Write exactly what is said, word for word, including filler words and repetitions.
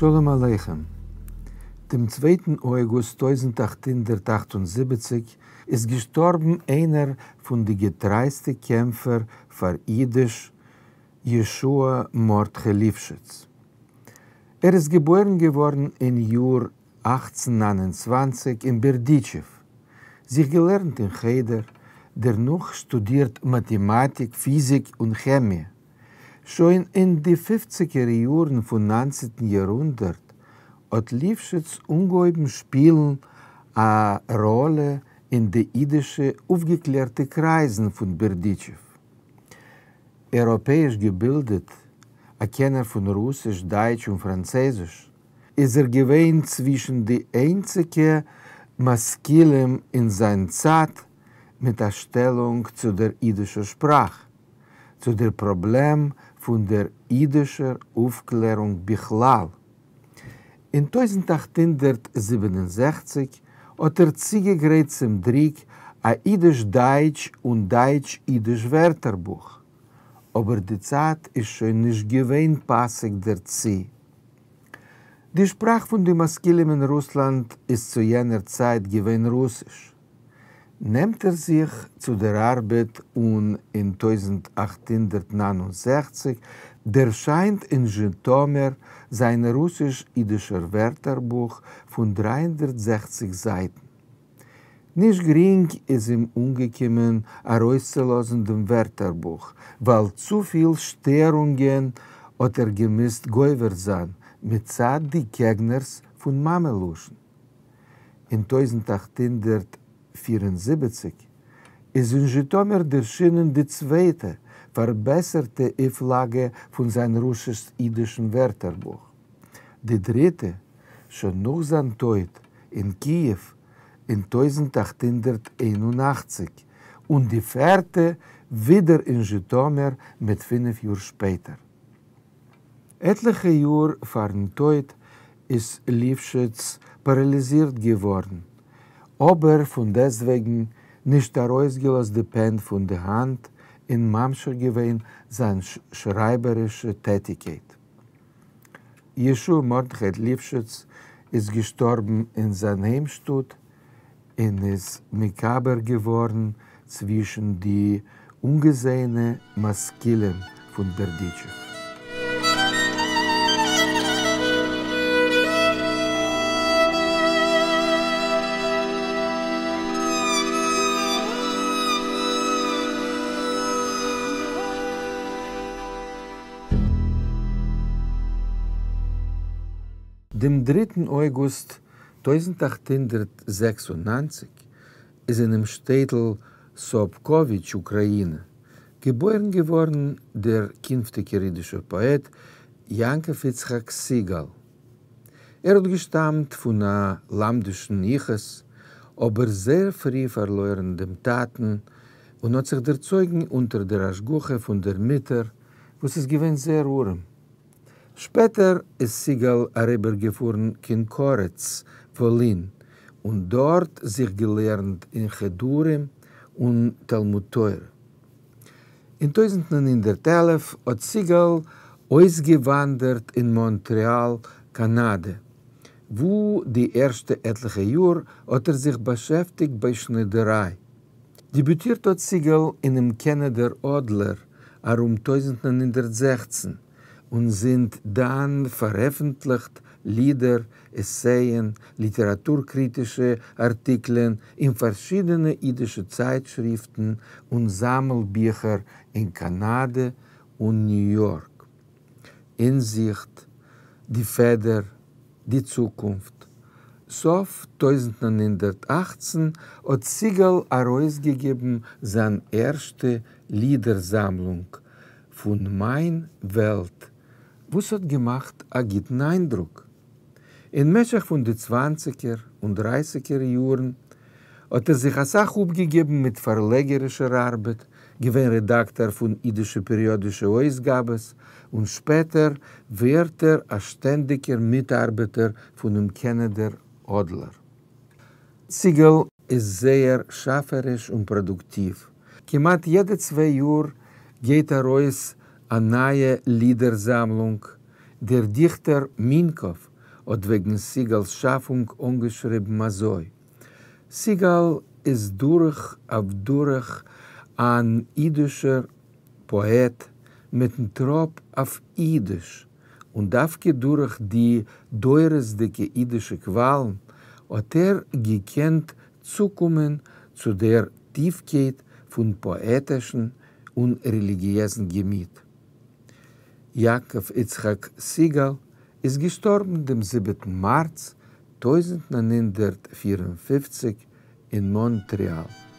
שלום עליכם. דעם צווייטן אויגוסט טויזנט אַכט הונדערט אַכט און זיבעציק איז געשטאָרבן איינער פֿון די געטרײַסטע קעמפֿער פֿאַר ייִדיש, ישוע מרדכי ליפֿשיץ. ער איז געבוירן געוואָרן אין יאָר אַכצן נײַן און צוואַנציק אין בערדיטשעוו, זיך געלערנט אין חדר, דערנאָך שטודירט מאַטעמאַטיק, פֿיזיק און כעמיע. שוין אין די פֿופֿציקער יאָרן פֿון נײַנצנטן יאָרהונדערט האָט ליפֿשיץ אָנגעהויבן שפּילן אַ ראָלע אין די ייִדישע אויפֿגעקלערטע קרײַזן פֿון בערדיטשעוו. אייראָפּעיִש געבילדעט, אַ קענער פֿון רוסיש, דײַטש און פֿראַנצייזיש, איז ער געווען צווישן די איינציקע משׂכּילים אין זײַן צײַט מיט אַ שטעלונג צו דער ייִדישער שפּראַך, צו דער פּראָבלעם פֿון דער ייִדישער אויפֿקלערונג בכלל. אין טויזנט אַכט הונדערט זיבן און זעכציק האָט ער צוגעגרייט צום דרוק אַ ייִדיש-דײַטש און דײַטש-ייִדיש ווערטערבוך, אָבער די צײַט איז שוין נישט געווען פּאַסיק דערצו. די שפּראַך פֿון די משׂכּילים אין רוסלאַנד איז צו יענער צײַט געווען רוסיש. נעמט ער זיך צו דער אַרבעט און אין טויזנט אַכט הונדערט נײַן און זעכציק דערשײַנט אין זשיטאָמיר זײַן רוסיש-ייִדישער ווערטערבוך פֿון דרײַ הונדערט זעכציק זײַטן. נישט גרינג איז אים אָנגעקומען אַרויסצולאָזן דעם ווערטערבוך, ווײַל צו פֿיל שטערונגען האָט ער געמוזט גובר זײַן מצד די קעגנערס פֿון מאַמע-לשון. אין טויזנט אַכט הונדערט פֿיר און זיבעציק איז אין זשיטאָמיר דערשינען די צווייטע, פֿאַרבעסערטע אויפֿלאַגע פֿון זײַן רוסיש-ייִדישן ווערטערבוך. די דריטע, שוין נאָך זײַן טויט אין קיִעוו אין טויזנט אַכט הונדערט איין און אַכציק, און די פֿערטע ווידער אין זשיטאָמיר מיט פֿינף יאָר שפּעטער. עטלעכע יאָר פֿאַרן טויט איז ליפֿשיץ פּאַראַליזירט געוואָרן, אָבער פֿון דעסטוועגן נישט אַרויסגעלאָזט די פּען פֿון די האַנט און ממשיך געווען זײַן שרײַבערישע טעטיקייט. ישוע מרדכי ליפֿשיץ איז געשטאָרבן אין זײַן היימשטאָט און איז מקבר געוואָרן צווישן די אָנגעזעענע משׂכּילים פֿון בערדיטשעוו. דעם דריטן אויגוסט טויזנט אַכט הונדערט זעקס און נײַנציק איז אינעם שטעטל סאָבקאָוויטש, אוקראַיִנע, געבוירן געוואָרן דער קינפֿטיקער ייִדישער פּאָעט יעקבֿ יצחק סיגאַל. ער האָט געשטאַמט פֿון אַ לומדישן ייִחוס, אָבער זייער פֿרי פֿאַרלוירן דעם טאַטן און האָט זיך דערצויגן אונטער דער השגחה פֿון דער מוטער, וואָס איז געווען זייער אָרעם. שפּעטער איז סיגאַל אַריבערגעפֿאָרן קיין קאָרעץ, וואָלין, און דאָרט זיך געלערנט אין חדרים און תלמוד תורה. אין טויזנט נײַן הונדערט עלף האָט סיגאַל אויסגעוואַנדערט אין מאָנטרעאַל, קאַנאַדע, וווּ די ערשטע עטלעכע יאָר האָט ער זיך באַשעפֿטיקט בײַ שנידערײַ. דעביוטירט האָט סיגאַל אינעם קענעדער אָדלער אַרום טויזנט נײַן הונדערט זעכצן און זינט דאַן פֿאַרעפֿנטלעכט לידער, עסייען, ליטעראַטור-קריטישע אַרטיקלען אין פֿאַרשידענע ייִדישע צײַטשריפֿטן און זאַמלביכער אין קאַנאַדע און ניו-יאָרק. אינזיכט, די פֿעדער, די צוקונפֿט. סוף טויזנט נײַן הונדערט אַכצן האָט סיגאַל אַרויסגעגעבן זײַן ערשטע לידער-זאַמלונג פֿון מײַן וועלט, וואָס האָט געמאַכט אַ גוטן אײַנדרוק. אין משך פֿון די צוואַנציקער און דרײַסיקער יאָרן האָט ער זיך אַ סך אָפּגעגעבן מיט פֿאַרלעגערישער אַרבעט, געווען רעדאַקטאָר פֿון ייִדישע פּעריאָדישע אויסגאַבעס און שפּעטער ווערט ער אַ שטענדיקער מיטאַרבעטער פֿונעם קענעדער אָדלער. סיגאַל איז זייער שאַפֿעריש און פּראָדוקטיוו. כּמעט יעדע צוויי יאָר גייט אַרויס אַ נײַע לידער-זאַמלונג. דער דיכטער מינקאָוו האָט וועגן סיגאַלס שאַפֿונג אָנגעשריבן אַזוי, סיגאַל איז דורך אויף דורך אַן ייִדישער פּאָעט מיטן טראָפּ אויף ייִדיש, און דווקא דורך די דורותדיקע ייִדישע קוואַלן האָט ער געקענט צוקומען צו דער טיפֿקייט פֿון פּאָעטישן און רעליגיעזן געמיט. יעקבֿ יצחק סיגאַל איז געשטאָרבן דעם זיבעטן מאַרץ טויזנט נײַן הונדערט פֿיר און פֿופֿציק אין מאָנטרעאַל.